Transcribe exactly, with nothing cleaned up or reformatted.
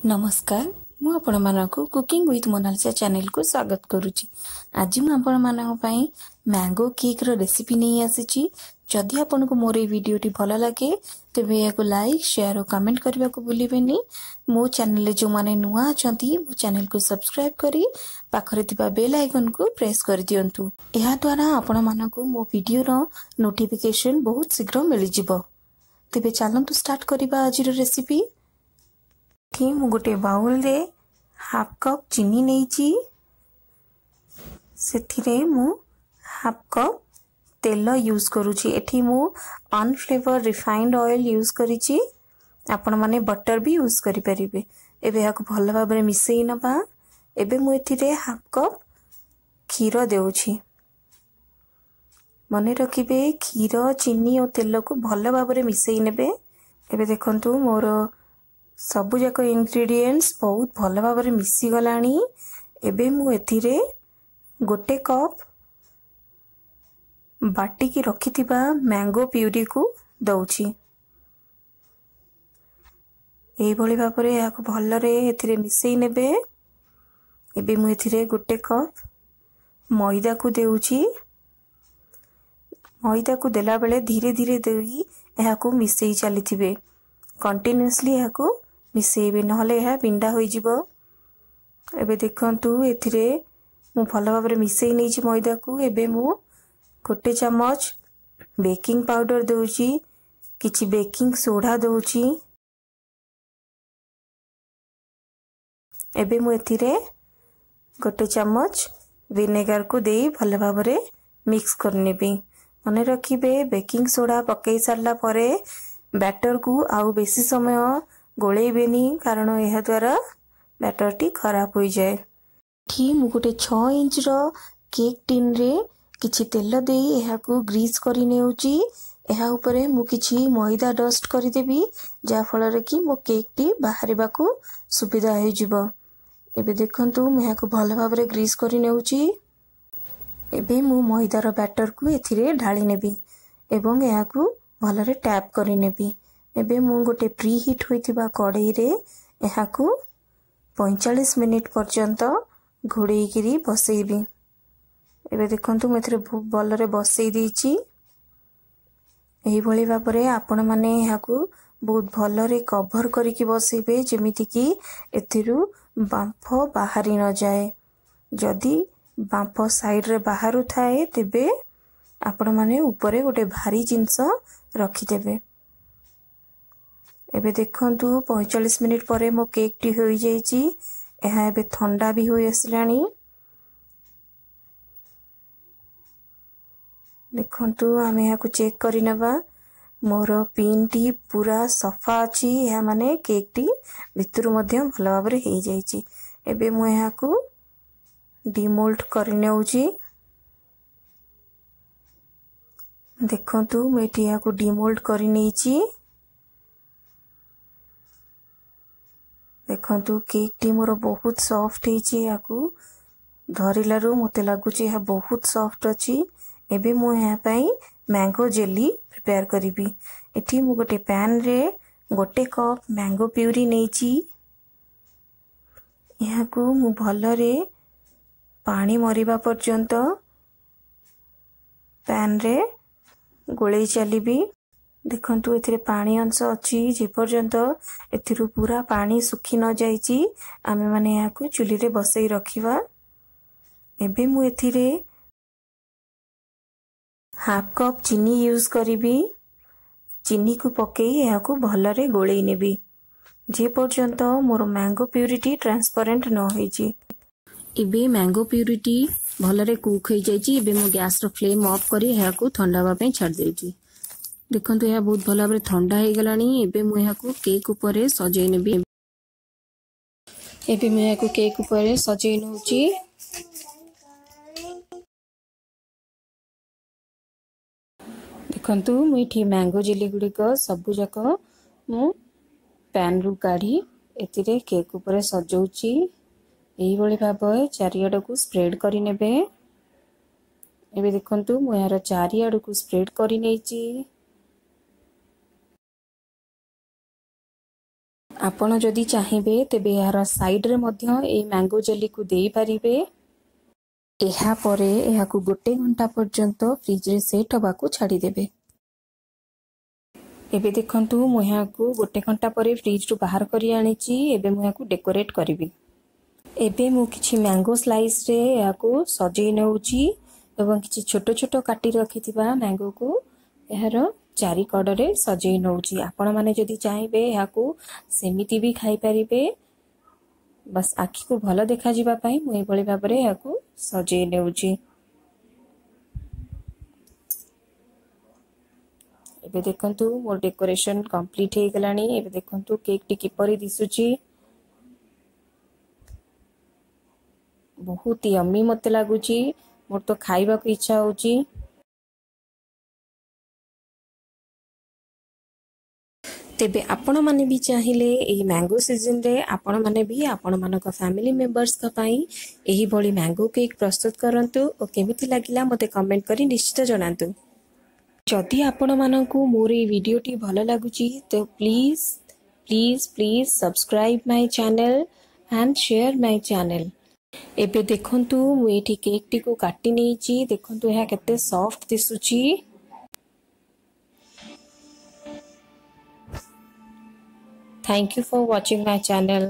ନମସ୍କାର, ମୁଁ ଆପଣମାନଙ୍କୁ କୁକିଂ ୱିଥ୍ ମୋନାଲିସା ଚ୍ୟାନେଲକୁ ସ୍ୱାଗତ କରୁଛି। ଆଜି ମୁଁ ଆପଣମାନଙ୍କ ପାଇଁ ମ୍ୟାଙ୍ଗୋ କେକ୍ର ରେସିପି ନେଇ ଆସିଛି। ଯଦି ଆପଣଙ୍କୁ ମୋର ଏଇ ଭିଡ଼ିଓଟି ଭଲ ଲାଗେ, ତେବେ ଏହାକୁ ଲାଇକ୍, ସେୟାର ଓ କମେଣ୍ଟ କରିବାକୁ ଭୁଲିବେନି। ମୋ ଚ୍ୟାନେଲରେ ଯେଉଁମାନେ ନୂଆ ଅଛନ୍ତି, ମୋ ଚ୍ୟାନେଲକୁ ସବସ୍କ୍ରାଇବ୍ କରି ପାଖରେ ଥିବା ବେଲ୍ ଆଇକନ୍କୁ ପ୍ରେସ୍ କରିଦିଅନ୍ତୁ। ଏହାଦ୍ୱାରା ଆପଣମାନଙ୍କୁ ମୋ ଭିଡ଼ିଓର ନୋଟିଫିକେସନ୍ ବହୁତ ଶୀଘ୍ର ମିଳିଯିବ। ତେବେ ଚାଲନ୍ତୁ ଷ୍ଟାର୍ଟ କରିବା ଆଜିର ରେସିପି। ଏଠି ମୁଁ ଗୋଟେ ବାଉଲରେ ହାଫ୍ କପ୍ ଚିନି ନେଇଛି। ସେଥିରେ ମୁଁ ହାଫ୍ କପ୍ ତେଲ ୟୁଜ୍ କରୁଛି। ଏଠି ମୁଁ ଅନଫ୍ଲେଭର ରିଫାଇଣ୍ଡ ଅଏଲ୍ ୟୁଜ୍ କରିଛି, ଆପଣମାନେ ବଟର୍ ବି ୟୁଜ୍ କରିପାରିବେ। ଏବେ ଏହାକୁ ଭଲ ଭାବରେ ମିଶାଇ ନେବା। ଏବେ ମୁଁ ଏଥିରେ ହାଫ୍ କପ୍ କ୍ଷୀର ଦେଉଛି। ମନେ ରଖିବେ, କ୍ଷୀର, ଚିନି ଓ ତେଲକୁ ଭଲ ଭାବରେ ମିଶାଇ ନେବେ। ଏବେ ଦେଖନ୍ତୁ, ମୋର ସବୁଯାକ ଇନଗ୍ରିଡ଼ିଏଣ୍ଟସ୍ ବହୁତ ଭଲ ଭାବରେ ମିଶିଗଲାଣି। ଏବେ ମୁଁ ଏଥିରେ ଗୋଟେ କପ୍ ବାଟିକି ରଖିଥିବା ମ୍ୟାଙ୍ଗୋ ପ୍ୟୁରିକୁ ଦେଉଛି। ଏଇଭଳି ଭାବରେ ଏହାକୁ ଭଲରେ ଏଥିରେ ମିଶାଇ ନେବେ। ଏବେ ମୁଁ ଏଥିରେ ଗୋଟେ କପ୍ ମଇଦାକୁ ଦେଉଛି। ମଇଦାକୁ ଦେଲାବେଳେ ଧୀରେ ଧୀରେ ଦେଇ ଏହାକୁ ମିଶାଇ ଚାଲିଥିବେ। କଣ୍ଟିନ୍ୟୁଅସଲି ଏହାକୁ ମିଶାଇବେ, ନହେଲେ ଏହା ବିଣ୍ଡା ହୋଇଯିବ। ଏବେ ଦେଖନ୍ତୁ, ଏଥିରେ ମୁଁ ଭଲ ଭାବରେ ମିଶାଇ ନେଇଛି ମଇଦାକୁ। ଏବେ ମୁଁ ଗୋଟେ ଚାମଚ ବେକିଂ ପାଉଡ଼ର ଦେଉଛି, କିଛି ବେକିଂ ସୋଢ଼ା ଦେଉଛି। ଏବେ ମୁଁ ଏଥିରେ ଗୋଟେ ଚାମଚ ଭିନେଗାରକୁ ଦେଇ ଭଲ ଭାବରେ ମିକ୍ସ କରିନେବି। ମନେ ରଖିବେ, ବେକିଂ ସୋଢ଼ା ପକାଇ ସାରିଲା ପରେ ବ୍ୟାଟରକୁ ଆଉ ବେଶୀ ସମୟ ଗୋଳେଇବେନି, କାରଣ ଏହାଦ୍ୱାରା ବ୍ୟାଟରଟି ଖରାପ ହୋଇଯାଏ। ଏଠି ମୁଁ ଗୋଟେ ଛଅ ଇଞ୍ଚର କେକ୍ ଟିନ୍ରେ କିଛି ତେଲ ଦେଇ ଏହାକୁ ଗ୍ରୀସ୍ କରି ନେଉଛି। ଏହା ଉପରେ ମୁଁ କିଛି ମଇଦା ଡଷ୍ଟ କରିଦେବି, ଯାହାଫଳରେ କି ମୋ କେକ୍ଟି ବାହାରିବାକୁ ସୁବିଧା ହୋଇଯିବ। ଏବେ ଦେଖନ୍ତୁ, ମୁଁ ଏହାକୁ ଭଲ ଭାବରେ ଗ୍ରୀସ୍ କରି ନେଉଛି। ଏବେ ମୁଁ ମଇଦାର ବ୍ୟାଟରକୁ ଏଥିରେ ଢାଳି ନେବି ଏବଂ ଏହାକୁ ଭଲରେ ଟ୍ୟାପ୍ କରିନେବି। ଏବେ ମୁଁ ଗୋଟେ ପ୍ରି ହିଟ୍ ହୋଇଥିବା କଡ଼େଇରେ ଏହାକୁ ପଇଁଚାଳିଶ ମିନିଟ୍ ପର୍ଯ୍ୟନ୍ତ ଘୋଡ଼େଇକିରି ବସେଇବି। ଏବେ ଦେଖନ୍ତୁ, ମୁଁ ଏଥିରେ ଭଲରେ ବସେଇ ଦେଇଛି। ଏହିଭଳି ଭାବରେ ଆପଣମାନେ ଏହାକୁ ବହୁତ ଭଲରେ କଭର୍ କରିକି ବସେଇବେ, ଯେମିତିକି ଏଥିରୁ ବାମ୍ଫ ବାହାରି ନଯାଏ। ଯଦି ବାମ୍ଫ ସାଇଡ଼ରେ ବାହାରୁଥାଏ, ତେବେ ଆପଣମାନେ ଉପରେ ଗୋଟେ ଭାରି ଜିନିଷ ରଖିଦେବେ। ଏବେ ଦେଖନ୍ତୁ, ପଇଁଚାଳିଶ ମିନିଟ୍ ପରେ ମୋ କେକ୍ଟି ହୋଇଯାଇଛି। ଏହା ଏବେ ଥଣ୍ଡା ବି ହୋଇ ଆସିଲାଣି। ଦେଖନ୍ତୁ, ଆମେ ଏହାକୁ ଚେକ୍ କରିନେବା। ମୋର ପିନ୍ଟି ପୁରା ସଫା ଅଛି, ଏହା ମାନେ କେକ୍ଟି ଭିତରୁ ମଧ୍ୟ ଭଲ ଭାବରେ ହେଇଯାଇଛି। ଏବେ ମୁଁ ଏହାକୁ ଡିମୋଲ୍ଡ କରିନେଉଛି। ଦେଖନ୍ତୁ, ମୁଁ ଏଠି ଏହାକୁ ଡିମୋଲ୍ଡ କରିନେଇଛି। ଦେଖନ୍ତୁ, କେକ୍ଟି ମୋର ବହୁତ ସଫ୍ଟ ହେଇଛି। ଏହାକୁ ଧରିଲାରୁ ମୋତେ ଲାଗୁଛି ଏହା ବହୁତ ସଫ୍ଟ ଅଛି। ଏବେ ମୁଁ ଏହା ପାଇଁ ମ୍ୟାଙ୍ଗୋ ଜେଲି ପ୍ରିପେୟାର କରିବି। ଏଠି ମୁଁ ଗୋଟେ ପ୍ୟାନ୍ରେ ଗୋଟେ କପ୍ ମ୍ୟାଙ୍ଗୋ ପ୍ୟୁରି ନେଇଛି। ଏହାକୁ ମୁଁ ଭଲରେ ପାଣି ମରିବା ପର୍ଯ୍ୟନ୍ତ ପ୍ୟାନ୍ରେ ଗୋଳେଇ ଚାଲିବି। ଦେଖନ୍ତୁ, ଏଥିରେ ପାଣି ଅଂଶ ଅଛି। ଯେପର୍ଯ୍ୟନ୍ତ ଏଥିରୁ ପୁରା ପାଣି ଶୁଖି ନଯାଇଛି, ଆମେମାନେ ଏହାକୁ ଚୁଲିରେ ବସେଇ ରଖିବା। ଏବେ ମୁଁ ଏଥିରେ ହାଫ୍ କପ୍ ଚିନି ୟୁଜ୍ କରିବି। ଚିନିକୁ ପକାଇ ଏହାକୁ ଭଲରେ ଗୋଳେଇ ନେବି, ଯେପର୍ଯ୍ୟନ୍ତ ମୋର ମ୍ୟାଙ୍ଗୋ ପ୍ୟୁରିଟି ଟ୍ରାନ୍ସପରେଣ୍ଟ ନ ହେଇଛି। ଏବେ ମ୍ୟାଙ୍ଗୋ ପ୍ୟୁରିଟି ଭଲରେ କୁକ୍ ହେଇଯାଇଛି। ଏବେ ମୁଁ ଗ୍ୟାସ୍ର ଫ୍ଲେମ୍ ଅଫ୍ କରି ଏହାକୁ ଥଣ୍ଡା ହେବା ପାଇଁ ଛାଡ଼ି ଦେଉଛି। ଦେଖନ୍ତୁ, ଏହା ବହୁତ ଭଲ ଭାବରେ ଥଣ୍ଡା ହେଇଗଲାଣି। ଏବେ ମୁଁ ଏହାକୁ କେକ୍ ଉପରେ ସଜେଇ ନେବି। ଏବେ ମୁଁ ଏହାକୁ କେକ୍ ଉପରେ ସଜେଇ ନେଉଛି। ଦେଖନ୍ତୁ, ମୁଁ ଏଠି ମ୍ୟାଙ୍ଗୋ ଜେଲି ଗୁଡ଼ିକ ସବୁଯାକ ମୁଁ ପ୍ୟାନ୍ରୁ କାଢ଼ି ଏଥିରେ କେକ୍ ଉପରେ ସଜଉଛି। ଏଇଭଳି ଭାବରେ ଚାରିଆଡ଼କୁ ସ୍ପ୍ରେଡ୍ କରିନେବେ। ଏବେ ଦେଖନ୍ତୁ, ମୁଁ ଏହାର ଚାରିଆଡ଼କୁ ସ୍ପ୍ରେଡ୍ କରିନେଇଛି। ଆପଣ ଯଦି ଚାହିଁବେ ତେବେ ଏହାର ସାଇଡ଼ରେ ମଧ୍ୟ ଏଇ ମ୍ୟାଙ୍ଗୋ ଜେଲିକୁ ଦେଇପାରିବେ। ଏହାପରେ ଏହାକୁ ଗୋଟେ ଘଣ୍ଟା ପର୍ଯ୍ୟନ୍ତ ଫ୍ରିଜରେ ସେଟ୍ ହେବାକୁ ଛାଡ଼ିଦେବେ। ଏବେ ଦେଖନ୍ତୁ, ମୁଁ ଏହାକୁ ଗୋଟେ ଘଣ୍ଟା ପରେ ଫ୍ରିଜରୁ ବାହାର କରି ଆଣିଛି। ଏବେ ମୁଁ ଏହାକୁ ଡେକୋରେଟ୍ କରିବି। ଏବେ ମୁଁ କିଛି ମ୍ୟାଙ୍ଗୋ ସ୍ଲାଇସ୍ରେ ଏହାକୁ ସଜେଇ ନେଉଛି ଏବଂ କିଛି ଛୋଟ ଛୋଟ କାଟି ରଖିଥିବା ମ୍ୟାଙ୍ଗୋକୁ ଏହାର ଚାରି କଡ଼ରେ ସଜେଇ ନେଉଛି। ଆପଣମାନେ ଯଦି ଚାହିଁବେ ଏହାକୁ ସେମିତି ବି ଖାଇପାରିବେ। ବାସ୍, ଆଖିକୁ ଭଲ ଦେଖାଯିବା ପାଇଁ ମୁଁ ଏଇଭଳି ଭାବରେ ଏହାକୁ ସଜେଇ ନେଉଛି। ଏବେ ଦେଖନ୍ତୁ, ମୋର ଡେକୋରେସନ୍ କମ୍ପ୍ଲିଟ୍ ହେଇଗଲାଣି। ଏବେ ଦେଖନ୍ତୁ କେକ୍ଟି କିପରି ଦିଶୁଛି। ବହୁତ ୟମି ମୋତେ ଲାଗୁଛି। ମୋର ତ ଖାଇବାକୁ ଇଚ୍ଛା ହେଉଛି। ତେବେ ଆପଣମାନେ ବି ଚାହିଁଲେ ଏହି ମ୍ୟାଙ୍ଗୋ ସିଜନରେ ଆପଣମାନେ ବି ଆପଣମାନଙ୍କ ଫ୍ୟାମିଲି ମେମ୍ବର୍ସଙ୍କ ପାଇଁ ଏହିଭଳି ମ୍ୟାଙ୍ଗୋ କେକ୍ ପ୍ରସ୍ତୁତ କରନ୍ତୁ ଓ କେମିତି ଲାଗିଲା ମୋତେ କମେଣ୍ଟ କରି ନିଶ୍ଚିତ ଜଣାନ୍ତୁ। ଯଦି ଆପଣମାନଙ୍କୁ ମୋର ଏଇ ଭିଡ଼ିଓଟି ଭଲ ଲାଗୁଛି ତ please, please, please subscribe my channel and share my channel. ଏବେ ଦେଖନ୍ତୁ, ମୁଁ ଏଇଠି କେକ୍ଟିକୁ କାଟି ନେଇଛି। ଦେଖନ୍ତୁ ଏହା କେତେ ସଫ୍ଟ ଦିଶୁଛି। Thank you for watching my channel.